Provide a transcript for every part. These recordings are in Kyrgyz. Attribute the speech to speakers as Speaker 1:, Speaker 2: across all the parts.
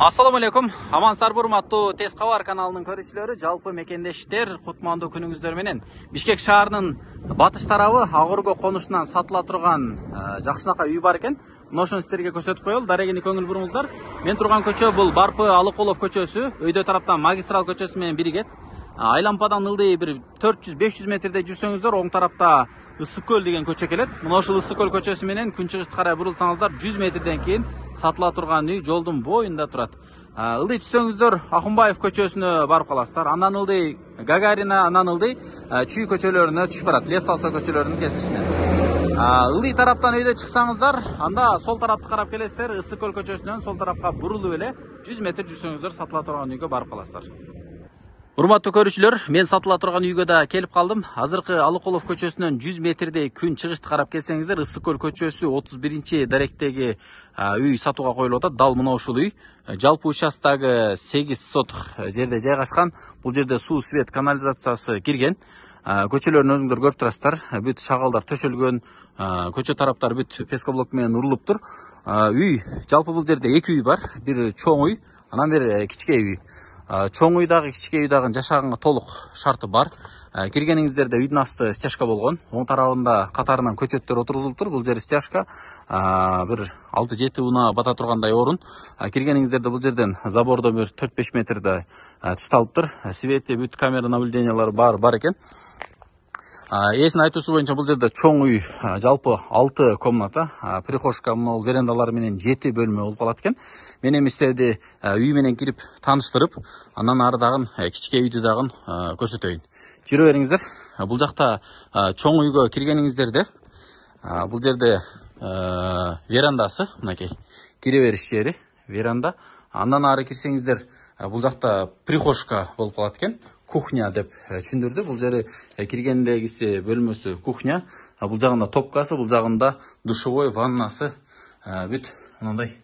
Speaker 1: Assalamu alaikum. Амансыздарбы, урматтуу Тез кабар каналынын көрүүчүлөрү, жалпы мекендештер, кутмандуу күнүңүздөр менен. Бишкек шаарынын батыш тарабы Агорго конушунан сатыла турган жакшынакай үй бар экен. Мына ошону сиздерге көрсөтүп коелу. Дарегини көңүл буруңуздар. Мен турган көчө бул Барпы Алыкулов көчөсү, өйдө тараптан Магистрал көчөсү менен биригет. Айлампадан ылдый бир 400-500 метрде жүрсөңүздөр, оң тарапта Ысык көл деген көчө келет. Мына ушул Ысык көл көчөсү менен күн чыгышты карай бурулсаңыздар, 100 метрден кийин сатыла турган үй жолдун боюнда турат. Ылдый түшсөңүздөр Акунбаев көчөсүнө барып каласыздар. Андан ылдый Гагарина, андан ылдый Чүй көчөлөрүнө түшүп барат, Лев Толстой көчөлөрүнүн кесишине. Ылдый тараптан өйдө чыксаңыздар, анда сол тарапты карап келесиздер. Ысык көл көчөсүнөн сол тарапка бурулуп эле 100 метр жүрсөңүздөр сатыла турган үйгө барып каласыздар. Урматтуу көрүүчүлөр, мен сатыла турган үйгө да келип калдым. Азыркы Алыкулов көчөсүнөн 100 метрдей күн чыгышты карап келсеңиздер, Ысык көл көчөсү 31-даректеги үй сатууга коюлуп атат. Дал мына ушул үй. Жалпы участогу 8 соток жерде жайгашкан. Бул жерде суу, свет, канализациясы кирген. Көчөлөрүн өзүңдөр көрүп турасыздар. Бүт шагалдар төшөлгөн, көчө тараптары бүт пескоблок менен урулуптур. Үй, жалпы бул жерде 2 үй бар. Бир чоң үй, анан бир кичке үй. Чоң үйдагы, кичке үйдагы жашаганга толук шарты бар. Киргениңиздерде үйдүн асты стяжка болгон. Оң тарабында катарынан көчөттөр отургузулуптур. Бул жер стяжка. Бир 6-7 уна бата тургандай орун. Киргениңиздерде бул жерден забордо бир 4-5 метрде түсталыптыр. Свети, бүт камера наблюдениялары бар экен. Эсин айтуусу боюнча бул жерде чоң үй, жалпы 6 комната, прихожка, могул верандалары менен 7 бөлмө болуп калат экен. Мен эми сиздерди үй менен кирип тааныштырып, андан ары дагы кичке үйдү дагы көрсөтөйүн. Жүрө бериңиздер. Бул жакта чоң үйгө киргениңиздерде, бул жерде верандасы, мынакей, кире бериш жери, веранда. Андан ары кирсеңиздер, бул жакта прихожка болуп калат экен. Кухня деп түшүндүрдү. Бул жери киргендегиси бөлмөсү кухня. Бул жагында топкасы, бул жагында душевой, ваннасы бүт мындай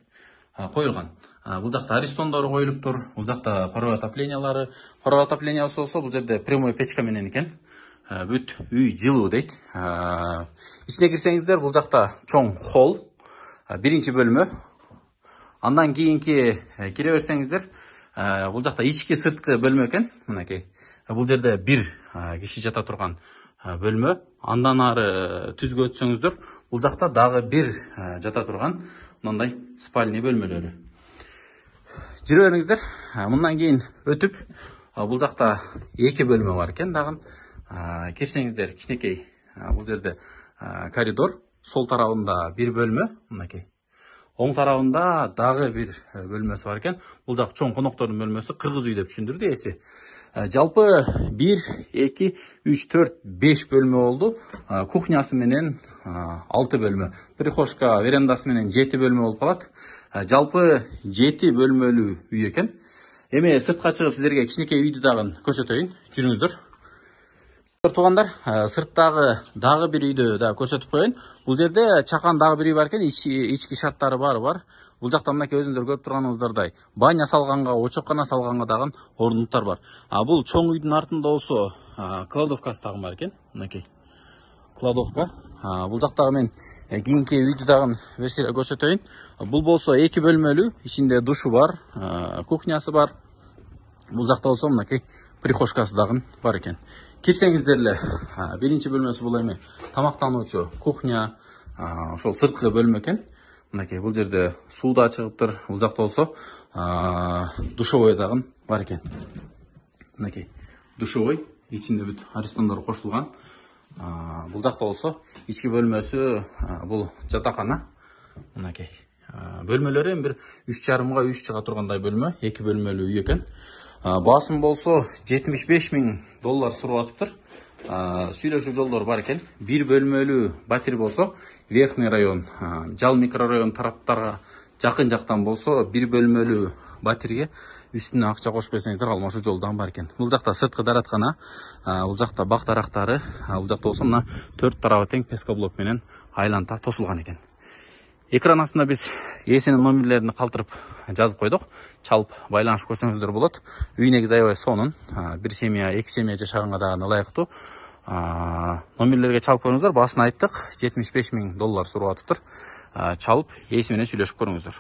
Speaker 1: коюлган. Бул жакта аристондору коюлуптур. Бул жакта паровой отоплениялары. Паровой отоплениясы болсо бул жерде прямой печка менен экен. Бүт үй жылуу дейт. Ичине кирсеңиздер, бул жакта чоң холл, биринчи бөлмө. Андан кийинки кире берсеңиздер, бул жакта ички сырткы бөлмө экен. Мынакей. Бул жерде бир киши жата турган бөлмө. Андан ары түзгө өтсөңүздөр, бул жакта дагы бир жата турган мындай спальный бөлмөлөрү. Жүрө бериңиздер. Мындан кийин өтүп, бул жакта 2 бөлмө бар экен дагы. Кирсеңиздер, кичинекей бул жерде коридор, сол тарабында бир бөлмө, мынакей. Оң тарабында дагы бир бөлмөсү бар экен. Бул жак чоң коноктордун бөлмөсү, кыргыз үй деп түшүндүрдү эси. Жалпы 1, 2, 3, 4, 5 бөлмө болду. Кухнясы менен 6 бөлмө. Прихожка, верандасы менен 7 бөлмө болуп калат. Жалпы 7 бөлмөлүү үй экен. Эми сыртка чыгып сиздерге кичинекей үйдү дагы көрсөтөйүн. Жүрүңүздөр. Туугандар, сырттагы дагы бир үйдү да көрсөтүп коеюн. Бул жерде чакан дагы бир үй бар экен, ички шарттары бар. Бул жакта мынакей өзүңдөр көрүп турганыңыздардай баня салганга, очоккана салганга дагы орунуктар бар. Бул чоң үйдүн артында болсо кладовкасы дагы бар экен. Мынакей. Кладовка. Бул жактагы мен кийинки үйдү дагы көрсөтөйүн. Бул болсо 2 бөлмөлүү, ичинде душу бар, кухнясы бар. Бул жакта болсо мынакей прихожкасы дагы бар экен. Кирсеңиздер эле, биринчи бөлмөсү бул эми тамактануучу кухня, ошол сырткы бөлмө экен. Мынакей, бул жерде суу да чыгыптыр. Бул жакта болсо душевой дагы бар экен. Мынакей, душевой, ичинде бүт аристондор кошулган. Бул жакта болсо ички бөлмөсү бул жатакана. Мынакей. Бөлмөлөрү эми бир 3,5 3 чыга тургандай бөлмө, 2 бөлмөлүү үй экен. Басым болсо $75,000 сурап атыптыр. Сүйлөшүү жолдору бар экен. Бир бөлмөлүү батир болсо, Верхний район, Жал микрорайон тараптарга жакын жактан болсо, бир бөлмөлүү батирге үстүнө акча кошуп берсеңиздер, алмашуу жолдон бар экен. Бул жакта сырткы дараткана, бул жакта бак дарактары, бул жакта болсо мына 4 тарабы тең пескоблок менен айланта тосулган экен. Экран астында биз ээсинин номерлерин калтырып жазып койдук. Чалып байланышып көрсөңүздөр болот. Үй негизи аябай сонун. Бир семья, 2 семья жашаганга дагы ылайыктуу. Номерлерге чалып көрүңүздөр. Баасын айттык. $75,000 сурап атыптыр. Чалып ээси менен сүйлөшүп көрүңүздөр.